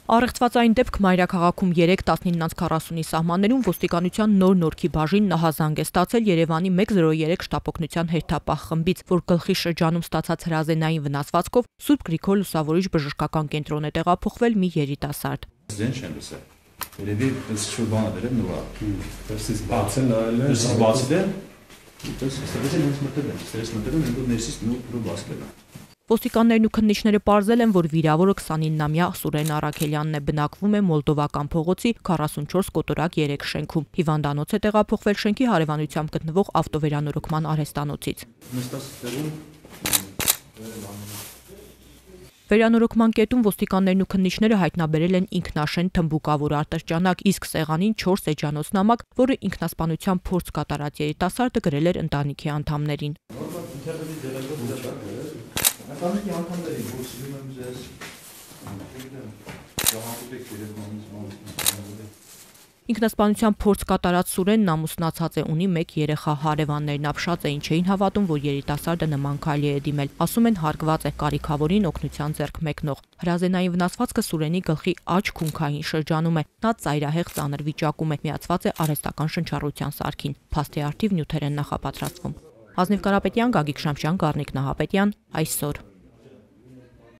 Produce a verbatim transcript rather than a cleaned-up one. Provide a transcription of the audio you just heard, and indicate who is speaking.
Speaker 1: Առեղծվածային դեպք մայրաքաղաքում երեք տասնինը քառասունի սահմաններում ոստիկանության նոր Նորքի բաժին նահազանգ է ստացել Երևանի մեկ զրո երեք շտապօգնության հերթապահ խմբից, որ գլխի շրջանում ստացած հրազենային վնասվածքով Սուրբ Գրիգոր Լուսավորիչ բժշկական կենտրոն է տեղափոխվել մի երիտասարդ։
Speaker 2: Ձեն չեմ լսել։ Երևի պես շուտ բան է դրել նվա։
Speaker 3: Պես բացել նայել է։
Speaker 2: Պես բացել է։ Պես ստացել է մտել է։ Ստերես մտել են ու ներսից նոր բացել է։
Speaker 1: Ոստիկաններն ու քննիչները պարզել են, որ վիրավորը քսանիննամյա Սուրեն Առաքելյանն է, բնակվում է Մոլդովական փողոցի քառասունչորս կոտորակ երեք շենքում։ Հիվանդանոց է տեղափոխվել շենքի հարևանությամբ գտնվող ավտովերանորոգման արհեստանոցից։ Վերանորոգման կետում ոստիկաններն ու քննիչները հայտնաբերել են ինքնաշեն թմբուկավոր ատրճանակ, իսկ սեղանին չորս էջանոց-նամակ, որը ինքնասպանության փորձ կատարած երիտասարդը գրել էր ընտանիքի անդամներին։
Speaker 2: Ընտանիքի անդամներին որ սիրում եմ ձեզ
Speaker 1: Ինքնասպանության փորձ կատարած Սուրենն ամուսնացած է, ունի մեկ երեխա, հարևաններն ապշած էին, չէին հավատում, որ երիտասարդը նման քայլի է դիմել, ասում են հարգված է, կարիքավորին օգնության ձեռք մեկնող։ Հրազենային վնասվածքը Սուրենի գլխի աջ քունքային շրջանում է, նա ծայրահեղ ծանր վիճակում է, միացված է արհեստական շնչառության սարքին, փաստի առթիվ նյութեր են նախապատրաստվում։ Ազնիվ Կարապետյան, Գագիկ Շամշյան, Գառնիկ Նահապետյան, այսօր։